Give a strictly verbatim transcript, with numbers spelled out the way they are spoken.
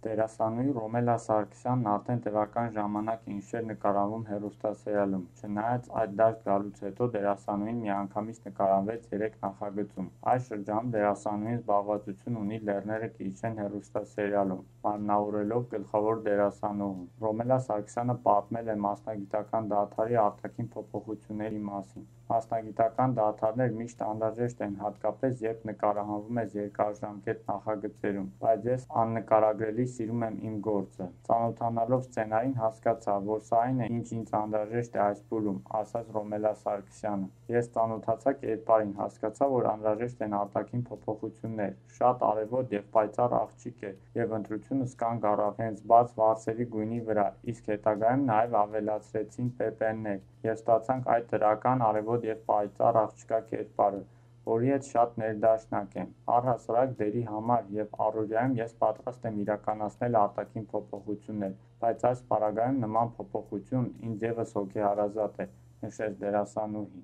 Դերասանուհի Ռոմելա Սարգսյանն արդեն տևական ժամանակ է ինչ չէր նկարահանվում հեռուստասերիալում, չնայած այդ դաշտ գալուց հետո դերասանուհին միանգամից նկարահանվեց երեք նախագծում։ Այս շրջանում դերասանուհին զբաղվածություն ունի «Լեռները կիջնեն» հեռուստասերիալում՝ մարմնավորելով գլխավոր դերասանուհուն։ Ռոմելա Սարգսյանը պատմել է մասնագիտական դադարի արտաքին փոփոխությունների մասին։ Մասնագիտական դադարներ միշտ անհրաժեշտ են, հատկապես երբ նկարահանվում ես երկարաժամկետ նախագծերում, բայց ես աննկարագրելի սիրում եմ իմ գործը։ Ծանոթանալով սցենարին, հասկացա, որ սա այն է, ինչ ինձ անհրաժեշտ է այս փուլում, ասաց Ռոմելա Սարգսյանը։ Ես ծանոթացա կերպարին, հասկացա, որ անհրաժեշտ են արտաքին փոփոխություններ։ Շատ արևոտ և պայծառ աղջիկ էր, և ընտրությունս կանգ առավ հենց բաց վարսերի գույնի վրա, իսկ հետագայում նաև ավելացրեցին պեպեններ, և ստացանք այդ դրական, արևոտ և պայծառ աղջկա կերպարը, որի հետ շատ ներդաշնակ եմ։ Առհասարակ դերի համար և առօրյայում ես պատրաստ եմ իրականացնել արտաքին փոփոխություններ, բայց այս պարագայում նման փոփոխություն ինձ ևս հոգեհարազատ է, նշեց դերասանուհին։